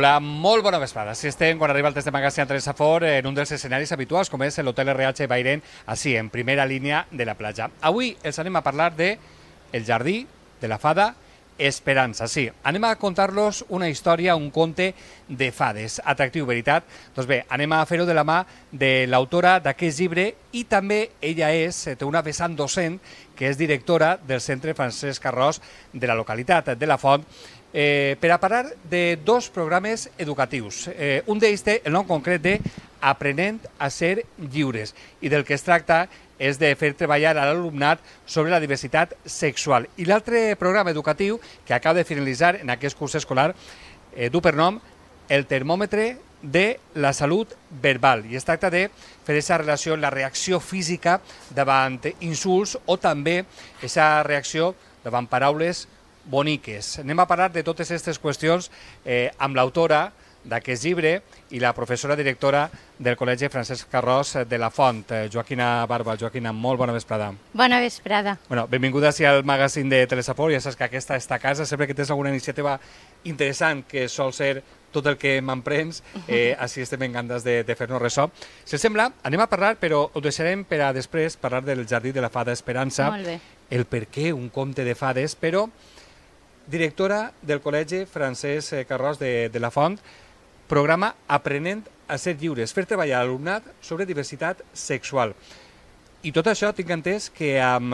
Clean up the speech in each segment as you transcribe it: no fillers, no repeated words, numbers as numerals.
Hola, molt bona vesprada. Si estem quan arriba el test de Magazine a Teresa Fort en un dels escenaris habituals, com és l'Hotel RH Bairén, així, en primera línia de la platja. Avui els anem a parlar de El jardí de la fada Esperança. Sí, anem a contar-los una història, un conte de fades. Atractiu, veritat? Doncs bé, anem a fer-ho de la mà de l'autora d'aquest llibre i també ella té una vessant docent que és directora del Centre Francesc Carròs de la localitat de la Font, per a parlar de dos programes educatius. Un d'ells té el nom concret de Aprenent a ser lliures i del que es tracta és de fer treballar a l'alumnat sobre la diversitat sexual. I l'altre programa educatiu que acaba de finalitzar en aquest curs escolar du per nom El termòmetre de la salut verbal i es tracta de fer aquesta relació, la reacció física davant insults o també aquesta reacció davant paraules boniques. Anem a parlar de totes aquestes qüestions amb l'autora d'aquest llibre i la professora directora del Col·legi Francesc Carròs de la Font, Joaquina Barba. Joaquina, molt bona vesprada. Bona vesprada. Benvinguda al magazín de Teresa Fort. Ja saps que aquesta és ta casa. Sempre que tens alguna iniciativa interessant, que sol ser tot el que m'emprens, així estem encantades de fer-nos ressò. Si us sembla, anem a parlar, però ho deixarem per a després parlar del jardí de la fada Esperança. Molt bé. El per què un conte de fades, però directora del Col·legi Francesc Carròs de la Font, programa Aprenent a ser lliures, fer treballar l'alumnat sobre diversitat sexual. I tot això tinc entès que amb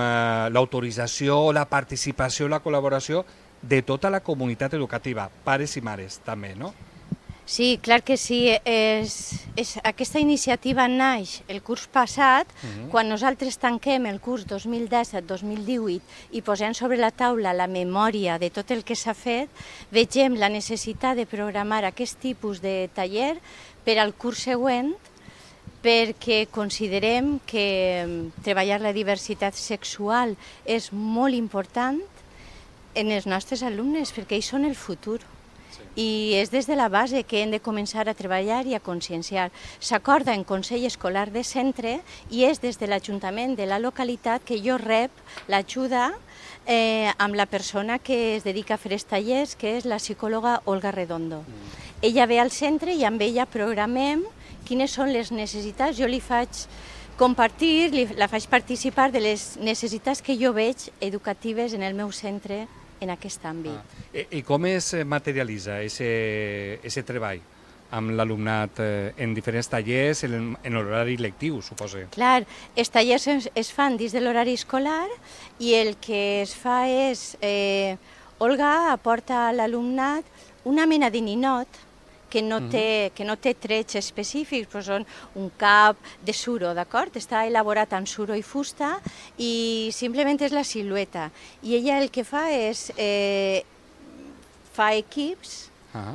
l'autorització, la participació, la col·laboració de tota la comunitat educativa, pares i mares també, no? Sí, clar que sí. Aquesta iniciativa naix el curs passat, quan nosaltres tanquem el curs 2017-2018 i posem sobre la taula la memòria de tot el que s'ha fet, vegem la necessitat de programar aquest tipus de taller per al curs següent, perquè considerem que treballar la diversitat sexual és molt important en els nostres alumnes, perquè ells són el futur. I és des de la base que hem de començar a treballar i a conscienciar. S'acorda en Consell Escolar de Centre i és des de l'Ajuntament de la localitat que jo rep l'ajuda amb la persona que es dedica a fer els tallers, que és la psicòloga Olga Redondo. Ella ve al centre i amb ella programem quines són les necessitats. Jo li faig compartir, la faig participar de les necessitats que jo veig educatives en el meu centre en aquest àmbit. I com es materialitza aquest treball amb l'alumnat en diferents tallers, en l'horari lectiu, suposo? Clar, els tallers es fan dins de l'horari escolar i el que es fa és, Olga aporta a l'alumnat una mena de ninot que no té trets específics, però són un cap de suro, d'acord? Està elaborat amb suro i fusta i simplement és la silueta. I ella el que fa és fa equips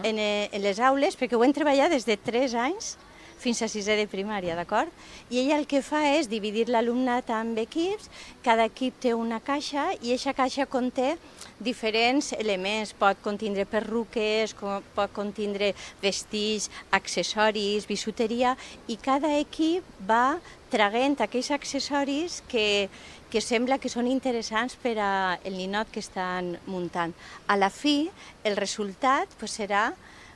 en les aules, perquè ho hem treballat des de 3 anys fins a 6è de primària, d'acord? I ella el que fa és dividir l'alumnat en equips, cada equip té una caixa i aquesta caixa conté diferents elements, pot contindre perruques, pot contindre vestits, accessoris, bisuteria, i cada equip va traient aquells accessoris que sembla que són interessants per al ninot que estan muntant. A la fi, el resultat serà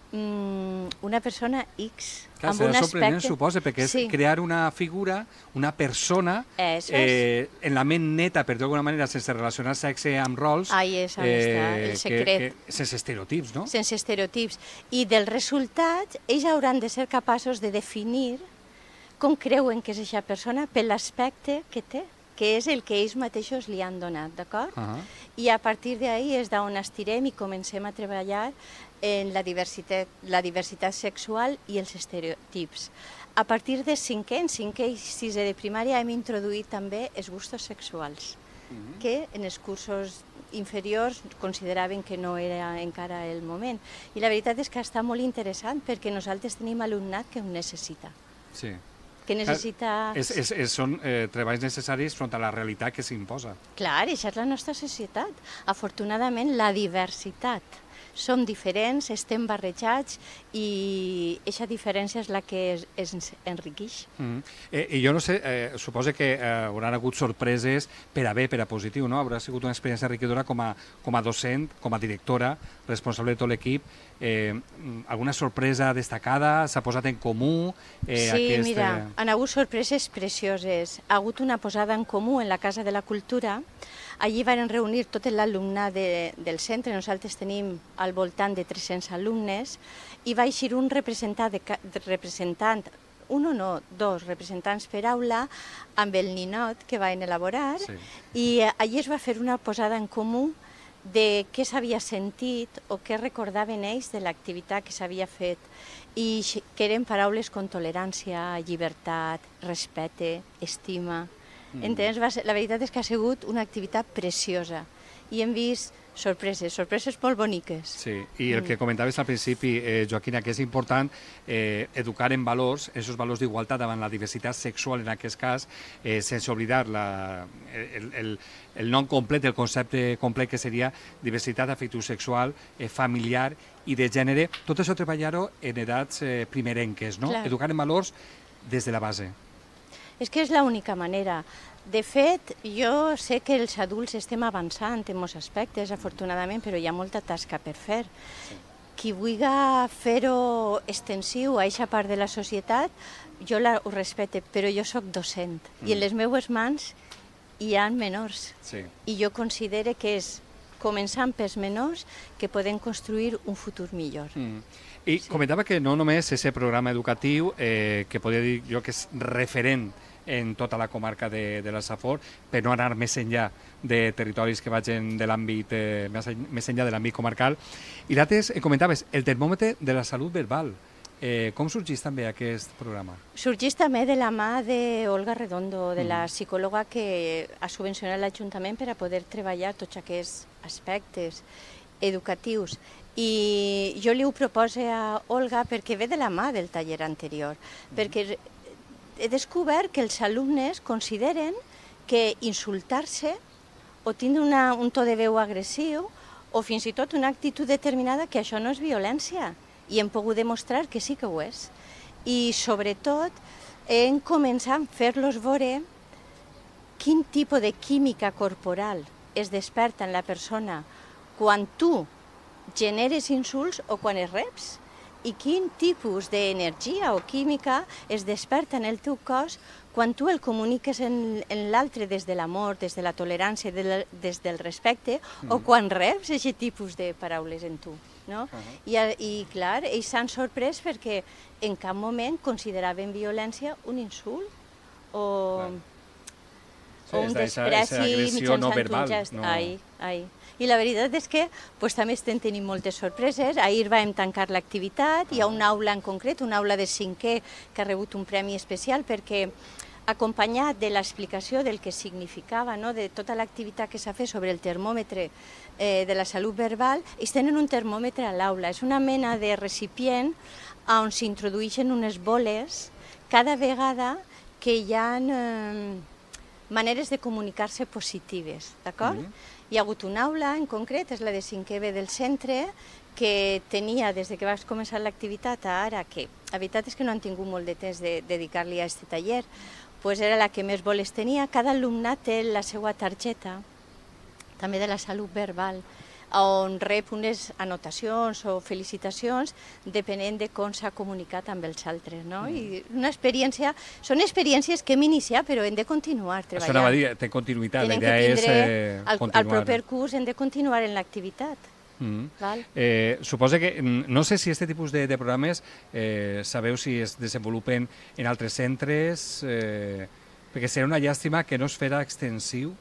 una persona X, amb un aspecte... Serà sorprenent, suposa, perquè és crear una figura, una persona, en la ment neta, per d'alguna manera, sense relacionar sexe amb rols... Ahí és on està el secret. Sense estereotips, no? Sense estereotips. I del resultat, ells hauran de ser capaços de definir com creuen que és aquesta persona per l'aspecte que té, que és el que ells mateixos li han donat, d'acord? I a partir d'ahí és d'on estirem i comencem a treballar en la diversitat sexual i els estereotips. A partir de 5è i 6è de primària hem introduït també els gustos sexuals, que en els cursos inferiors consideraven que no era encara el moment. I la veritat és que està molt interessant perquè nosaltres tenim alumnat que ho necessita. Sí. Que necessita... Són treballs necessaris front a la realitat que s'imposa. Clar, això és la nostra societat. Afortunadament, la diversitat som diferents, estem barrejats i aquesta diferència és la que ens enriqueix. I jo no sé, suposo que hauran hagut sorpreses per a bé, per a positiu, no? Haurà sigut una experiència enriquidora com a docent, com a directora, responsable de tot l'equip. Alguna sorpresa destacada? S'ha posat en comú? Sí, mira, han hagut sorpreses precioses. Ha hagut una posada en comú en la Casa de la Cultura. Allí van reunir tot l'alumnat del centre. Nosaltres tenim al voltant de 300 alumnes i va eixir un representant, dos representants per aula amb el ninot que van elaborar, i allí es va fer una posada en comú de què s'havia sentit o què recordaven ells de l'activitat que s'havia fet, i que eren paraules com tolerància, llibertat, respecte, estima. Entens? La veritat és que ha sigut una activitat preciosa i hem vist sorpreses molt boniques. Sí, i el que comentaves al principi, Joaquina, que és important educar en valors, aquests valors d'igualtat davant la diversitat sexual en aquest cas, sense oblidar el nom complet, el concepte complet que seria diversitat afectivosexual, familiar i de gènere. Tot això treballar-ho en edats primerenques, no? Educar en valors des de la base. És que és l'única manera. De fet, jo sé que els adults estem avançant en molts aspectes, afortunadament, però hi ha molta tasca per fer. Qui vulgui fer-ho extensiu a aquesta part de la societat, jo ho respecte, però jo sóc docent i en les meves mans hi ha menors. I jo considero que és començant pels menors que podem construir un futur millor. I comentava que no només és el programa educatiu, que podria dir jo que és referent en tota la comarca de la Safor, per no anar més enllà de territoris que vagin de l'àmbit, més enllà de l'àmbit comarcal. I l'altre, comentaves, el termòmetre de la salut verbal. Com sorgeix també aquest programa? Sorgeix també de la mà d'Olga Redondo, de la psicòloga que ha subvencionat l'Ajuntament per a poder treballar tots aquests aspectes educatius. I jo li ho proposo a Olga perquè ve de la mà del taller anterior, perquè he descobert que els alumnes consideren que insultar-se o tindre un to de veu agressiu o fins i tot una actitud determinada, que això no és violència, i hem pogut demostrar que sí que ho és. I sobretot hem començat a fer-los veure quin tipus de química corporal es desperta en la persona quan tu generes insults o quan es reps, i quin tipus d'energia o química es desperta en el teu cos quan tu el comuniques en l'altre des de l'amor, des de la tolerància, des del respecte, o quan reps aquest tipus de paraules en tu. I clar, ells s'han sorprès perquè en cap moment consideraven violència un insult o un despreci mitjançant un gest. I la veritat és que també estem tenint moltes sorpreses. Ahir vam tancar l'activitat, hi ha una aula en concret, una aula de 5è, que ha rebut un premi especial perquè, acompanyat de l'explicació del que significava, de tota l'activitat que s'ha fet sobre el termòmetre de la salut verbal, ells tenen un termòmetre a l'aula. És una mena de recipient on s'introdueixen unes boles cada vegada que hi ha maneres de comunicar-se positives, d'acord? Hi ha hagut una aula en concret, és la de 5è B del centre, que tenia, des que vas començar l'activitat a ara, que la veritat és que no han tingut molt de temps de dedicar-li a aquest taller, doncs era la que més boles tenia. Cada alumnat té la seva targeta, també de la salut verbal, on rep unes anotacions o felicitacions depenent de com s'ha comunicat amb els altres. I una experiència, són experiències que hem iniciat, però hem de continuar treballant. Això anava a dir, té continuïtat, la idea és continuar. Al proper curs hem de continuar en l'activitat. Suposo que, no sé si aquest tipus de programes sabeu si es desenvolupen en altres centres, perquè serà una llàstima que no es farà extensiu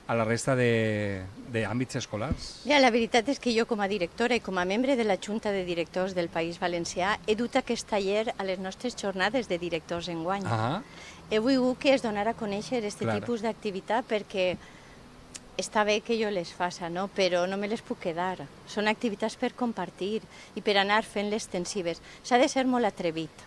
a la resta d'àmbits escolars. La veritat és que jo, com a directora i com a membre de la Junta de Directors del País Valencià, he dut aquest taller a les nostres jornades de directors enguany. He volgut que es donara a conèixer aquest tipus d'activitat perquè està bé que jo les faça, però no me les puc quedar. Són activitats per compartir i per anar fent-les extensives. S'ha de ser molt atrevit.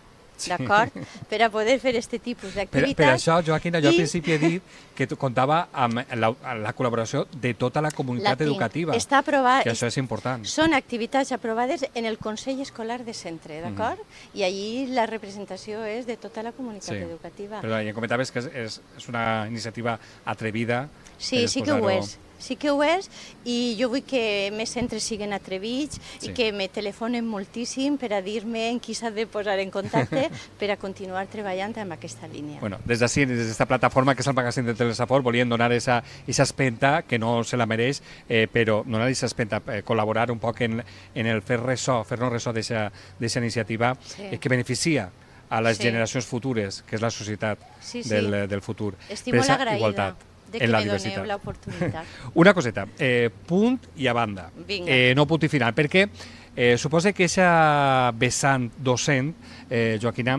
d'acord? Per a poder fer aquest tipus d'activitats. Per això, Joaquina, jo al principi he dit que comptava amb la col·laboració de tota la comunitat educativa. Està aprovat. Que això és important. Són activitats aprovades en el Consell Escolar de Centre, d'acord? I allí la representació és de tota la comunitat educativa. Però ja comentaves que és una iniciativa atrevida. Sí, sí que ho és. Sí que ho és, i jo vull que més centres siguin atrevits i que me telefonen moltíssim per a dir-me en qui s'ha de posar en contacte per a continuar treballant en aquesta línia. Bueno, des d'ací, des d'esta plataforma que és el magazín de Telesafor, volien donar aquesta espenta, que no se la mereix, però donar aquesta espenta, col·laborar un poc en el fer-nos ressò d'aquesta iniciativa que beneficia a les generacions futures, que és la societat del futur. Estic molt agraïda de que me doneu l'oportunitat. Una coseta, punt i a banda, no punt i final, perquè suposa que aquesta vessant docent, Joaquina,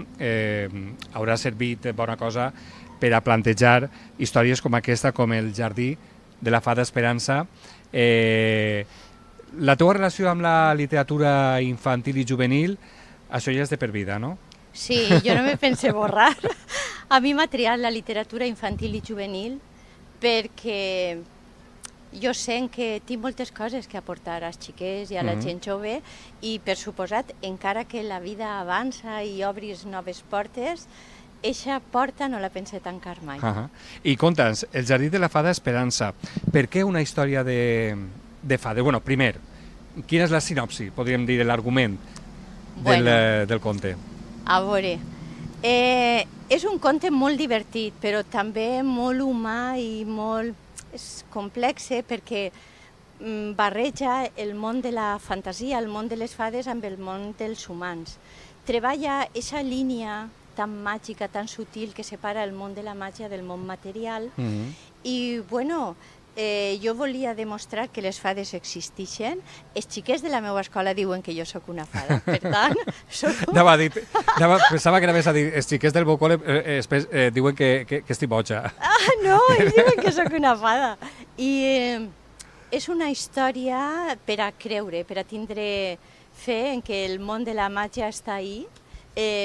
haurà servit bona cosa per a plantejar històries com aquesta, com el Jardí de la Fada Esperança. La teva relació amb la literatura infantil i juvenil, això ja és de per vida, no? Sí, jo no me pense borrar. A mi m'ha triat la literatura infantil i juvenil perquè jo sent que tinc moltes coses que aportar als xiquets i a la gent jove i, per suposat, encara que la vida avança i obris noves portes, eixa porta no la pense tancar mai. I conta'ns, el Jardí de la Fada Esperança, per què una història de fades? Bueno, primer, quina és la sinopsi, podríem dir, l'argument del conte? A veure, és un conte molt divertit, però també molt humà i molt complex, perquè barreja el món de la fantasia, el món de les fades, amb el món dels humans. Treballa aquesta línia tan màgica, tan sutil, que separa el món de la màgia del món material. I, bueno, jo volia demostrar que les fades existeixen. Els xiquets de la meva escola diuen que jo sóc una fada, per tant... Pensava que anaves a dir, els xiquets del meu col·le diuen que estic boja. Ah, no, ells diuen que sóc una fada. I és una història per a creure, per a tindre fe en que el món de la màgia està ahí,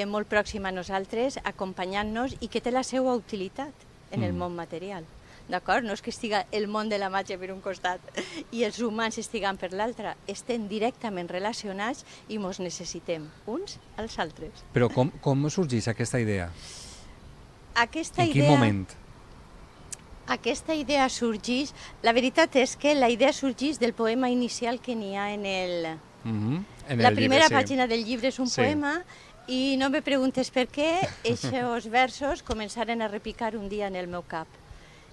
molt pròxim a nosaltres, acompanyant-nos, i que té la seva utilitat en el món material. D'acord? No és que estiga el món de la màgia per un costat i els humans estiguen per l'altre, estem directament relacionats i ens necessitem uns als altres. Però com sorgeix aquesta idea? En quin moment? Aquesta idea sorgeix... La veritat és que la idea sorgeix del poema inicial que n'hi ha en el... La primera pàgina del llibre és un poema i no me preguntes per què, aquests versos començaren a repicar un dia en el meu cap.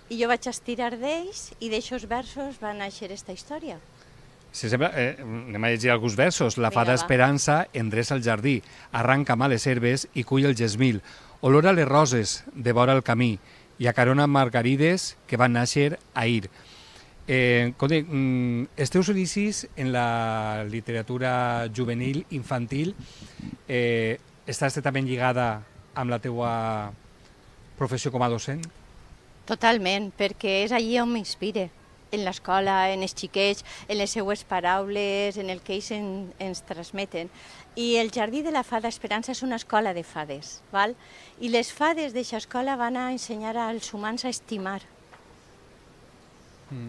I jo vaig estirar d'ells i d'aixòs versos va néixer aquesta història. Si sembla, anem a llegir alguns versos. La fada Esperança endreça el jardí, arranca males herbes i cull el gesmil, olora les roses, devora el camí i acarona margarides que van néixer ahir. Els teus inicis en la literatura juvenil, infantil, està estretament lligada amb la teua professió com a docent? Totalment, perquè és allí on m'inspire, en l'escola, en els xiquets, en les seues paraules, en el que ells ens transmeten. I el Jardí de la Fada Esperança és una escola de fades, val? I les fades d'aquesta escola van a ensenyar als humans a estimar,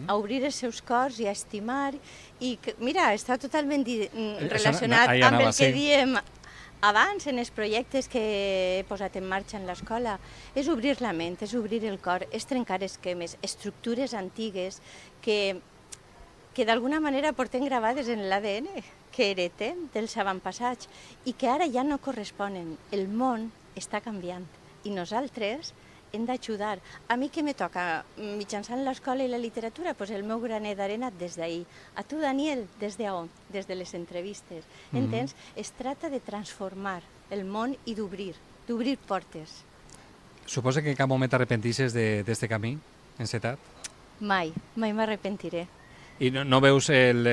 a obrir els seus cors i a estimar. I mira, està totalment relacionat amb el que diem abans, en els projectes que he posat en marxa en l'escola. És obrir la ment, és obrir el cor, és trencar esquemes, estructures antigues que d'alguna manera portem gravades en l'ADN, que heretem dels avantpassats i que ara ja no corresponen. El món està canviant i nosaltres hem d'ajudar. A mi què me toca mitjançant l'escola i la literatura? Doncs el meu granet d'arena des d'ahir. A tu, Daniel, des d'on? Des de les entrevistes. Entens? Es tracta de transformar el món i d'obrir portes. Suposa que en cap moment t'arrepentisses d'aquest camí encetat? Mai, mai m'arrepentiré. I no veus el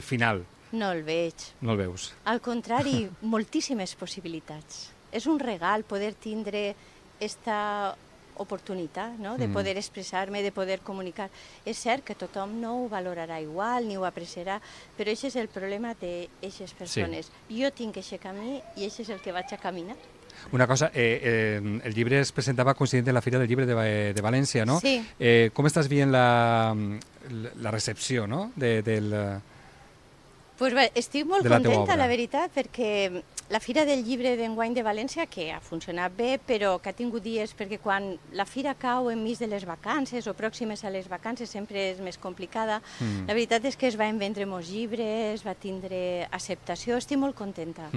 final? No el veig. No el veus? Al contrari, moltíssimes possibilitats. És un regal poder tindre aquesta oportunitat, no? De poder expressar-me, de poder comunicar. És cert que tothom no ho valorarà igual ni ho apreciarà, però això és el problema d'aquestes persones. Jo tinc aquest camí i això és el que vaig a caminar. Una cosa, el llibre es presentava coincidint en la Fira del Llibre de València, no? Sí. Com estàs veient la recepció, no? Pues bé, estic molt contenta, la veritat, perquè la Fira del Llibre d'enguany de València, que ha funcionat bé, però que ha tingut dies, perquè quan la fira cau enmig de les vacances o pròximes a les vacances sempre és més complicada. La veritat és que es van vendre molts llibres, va tindre acceptació, estic molt contenta.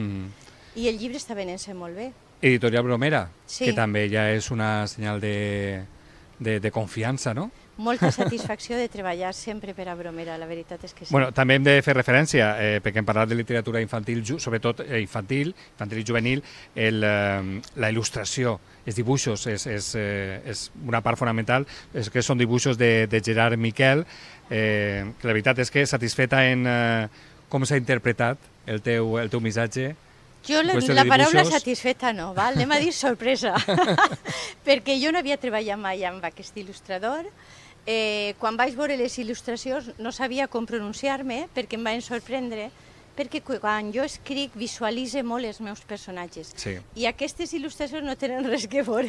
I el llibre està venent-se molt bé. Editorial Bromera, sí, que també ja és una senyal de confiança, no? Molta satisfacció de treballar sempre per a Bromera, la veritat és que sí. Bueno, també hem de fer referència, perquè hem parlat de literatura infantil, sobretot infantil i juvenil, la il·lustració, els dibuixos, és una part fonamental, que són dibuixos de Gerard Miquel, que la veritat és que satisfeta en com s'ha interpretat el teu missatge. Jo la paraula satisfeta no, val? Anem a dir sorpresa, perquè jo no havia treballat mai amb aquest il·lustrador. Quan vaig veure les il·lustracions no sabia com pronunciar-me perquè em van sorprendre, perquè quan jo escric visualitzo molt els meus personatges. Sí. I aquestes il·lustracions no tenen res que veure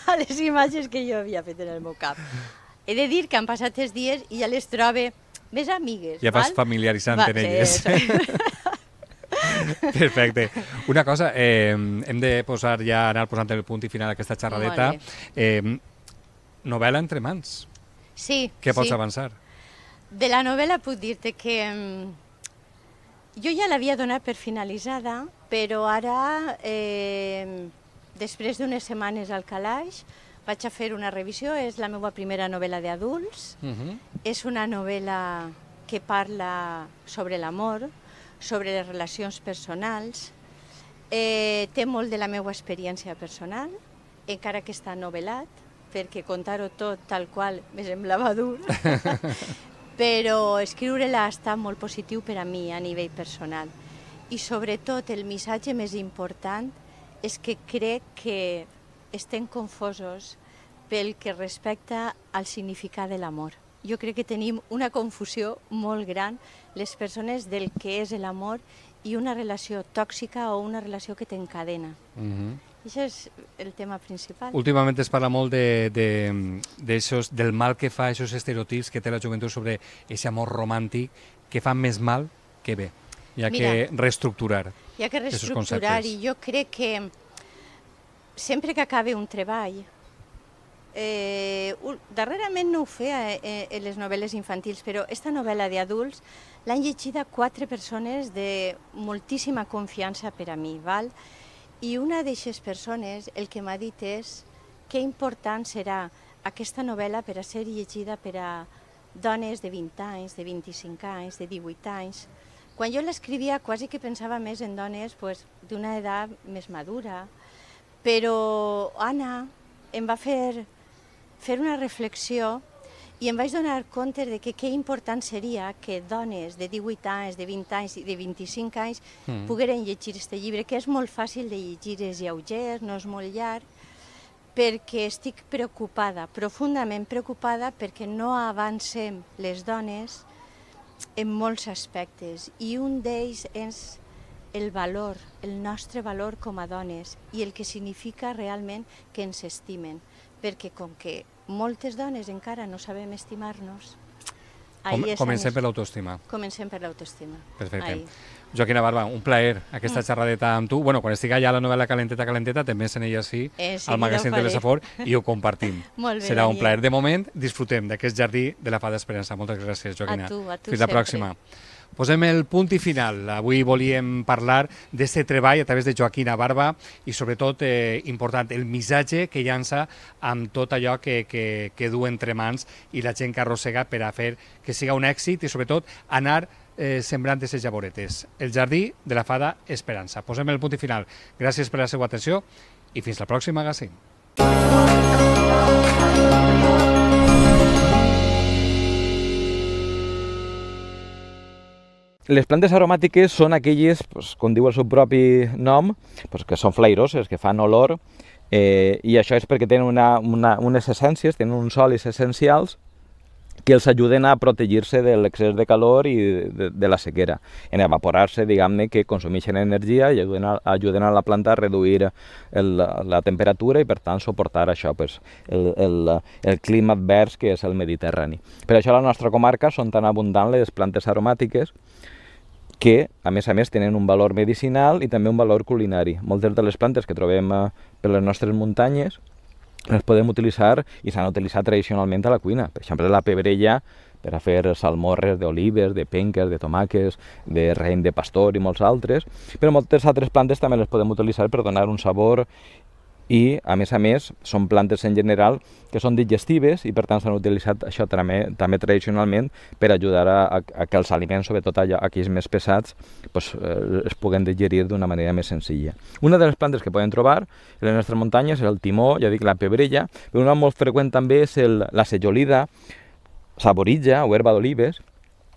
a les imatges que jo havia fet en el meu cap. He de dir que han passat els dies i ja les trobo més amigues. Ja vas familiaritzant en elles. Perfecte. Una cosa, hem de anar posant el punt i final d'aquesta xerradeta. Novel·la entre mans. Sí. Què pots avançar? De la novel·la puc dir-te que jo ja l'havia donat per finalitzada, però ara, després d'unes setmanes al calaix, vaig a fer una revisió. És la meva primera novel·la d'adults. És una novel·la que parla sobre l'amor, sobre les relacions personals. Té molt de la meva experiència personal, encara que està novel·lat, perquè contar-ho tot tal qual me semblava dur, però escriure-la ha estat molt positiu per a mi a nivell personal. I sobretot el missatge més important és que crec que estem confosos pel que respecta al significat de l'amor. Jo crec que tenim una confusió molt gran les persones del que és l'amor i una relació tòxica o una relació que t'encadena. Això és el tema principal. Últimament es parla molt del mal que fa aquests estereotips que té la joventut sobre aquest amor romàntic, que fan més mal que bé. Hi ha que reestructurar. Hi ha que reestructurar i jo crec que sempre que acabi un treball, darrerament no ho feia en les novel·les infantils, però aquesta novel·la d'adults l'han llegida 4 persones de moltíssima confiança per a mi, val? I una d'aquestes persones el que m'ha dit és que important serà aquesta novel·la per a ser llegida per a dones de 20 anys, de 25 anys, de 18 anys. Quan jo l'escrivia quasi que pensava més en dones d'una edat més madura, però Anna em va fer una reflexió i em vaig donar compte de que important seria que dones de 18 anys, de 20 anys i de 25 anys pogueren llegir aquest llibre, que és molt fàcil de llegir, és lleuger, no és molt llarg, perquè estic preocupada, profundament preocupada, perquè no avancem les dones en molts aspectes. I un d'ells és el valor, el nostre valor com a dones i el que significa realment que ens estimen. Perquè com que moltes dones encara no sabem estimar-nos... Comencem per l'autoestima. Comencem per l'autoestima. Perfecte. Joaquina Barba, un plaer aquesta xerradeta amb tu. Bueno, quan estigui allà la novel·la Calenteta, Calenteta, també en ella sí, al magazín de l'Esafor, i ho compartim. Serà un plaer. De moment, disfrutem d'aquest jardí de la Fada Esperança. Moltes gràcies, Joaquina. A tu Fins la pròxima. Posem el punt i final. Avui volíem parlar d'aquest treball a través de Joaquina Barba i sobretot, important, el missatge que llança amb tot allò que du entre mans i la gent que arrossega per a fer que siga un èxit i sobretot anar sembrant aquestes llavoretes. El jardí de la Fada Esperança. Posem el punt i final. Gràcies per la seva atenció i fins la pròxima magazín. Les plantes aromàtiques són aquelles, com diu el seu propi nom, que són flairoses, que fan olor I això és perquè tenen unes essències, tenen uns olis essencials que els ajuden a protegir-se de l'excés de calor i de la sequera. En evaporar-se, diguem-ne, que consumeixen energia i ajuden a la planta a reduir la temperatura i, per tant, suportar això, el clima advers que és el Mediterrani. Per això a la nostra comarca són tan abundants les plantes aromàtiques que, a més, tenen un valor medicinal i també un valor culinari. Moltes de les plantes que trobem per les nostres muntanyes les podem utilitzar i s'han utilitzat tradicionalment a la cuina. Per exemple, la pebrella per a fer salmorres d'olives, de penques, de tomàquets, de raïm de pastor i molts altres, però moltes altres plantes també les podem utilitzar per donar un sabor i, a més, són plantes en general que són digestives i, per tant, s'han utilitzat això també tradicionalment per ajudar a que els aliments, sobretot aquells més pesats, es puguen digerir d'una manera més senzilla. Una de les plantes que podem trobar en les nostres muntanyes és el timó, ja dic, la pebrella, però una molt freqüent també és la sejolida, saboritja o herba d'olives,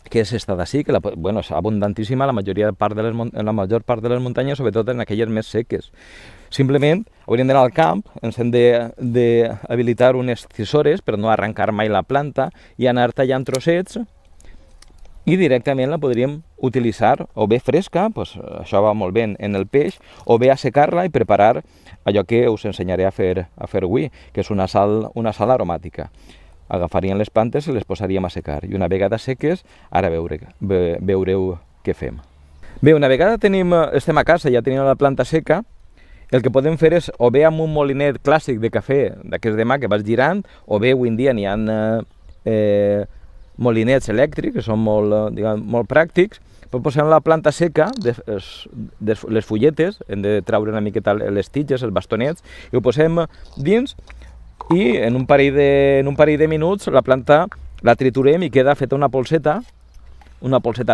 que és esta d'ací, que és abundantíssima en la major part de les muntanyes, sobretot en aquelles més seques. Simplement hauríem d'anar al camp, ens hem d'habilitar unes tisores per no arrencar mai la planta i anar tallant trossets i directament la podríem utilitzar o bé fresca, això va molt bé en el peix, o bé assecar-la i preparar allò que us ensenyaré a fer avui, que és una sal aromàtica. Agafaríem les plantes i les posaríem a secar. I una vegada seques, ara veureu què fem. Bé, una vegada estem a casa i ja tenim la planta seca, el que podem fer és, o bé amb un molinet clàssic de cafè, d'aquests de mà que vas girant, o bé avui en dia n'hi ha molinets elèctrics, que són molt pràctics, però posem la planta seca, les fulletes, hem de treure una miqueta les tiges, els bastonets, i ho posem dins, i en un parell de minuts la planta la triturem i queda feta una polseta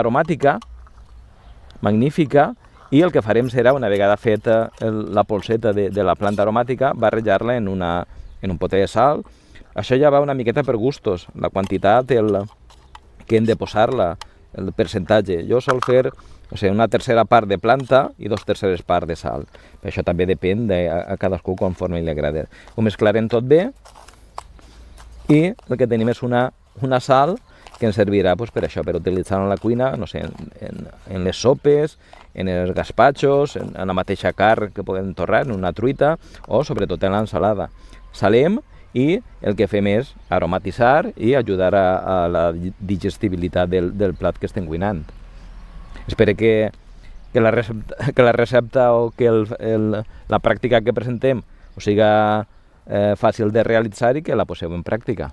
aromàtica, magnífica, i el que farem serà, una vegada feta la polseta de la planta aromàtica, barrejar-la en un potet de sal. Això ja va una miqueta per gustos, la quantitat que hem de posar-la, el percentatge. Jo sol fer una tercera part de planta i 2/3 parts de sal. Això també depèn a cadascú conforme li agrada. Ho mesclarem tot bé i el que tenim és una sal que ens servirà per això, per utilitzar-la a la cuina, no sé, en les sopes, en els gaspatxos, en la mateixa carn que podem torrar, en una truita o sobretot en l'ensalada. Salem i el que fem és aromatitzar i ajudar a la digestibilitat del plat que estem cuinant. Espero que la recepta o que la pràctica que presentem us siga fàcil de realitzar i que la poseu en pràctica.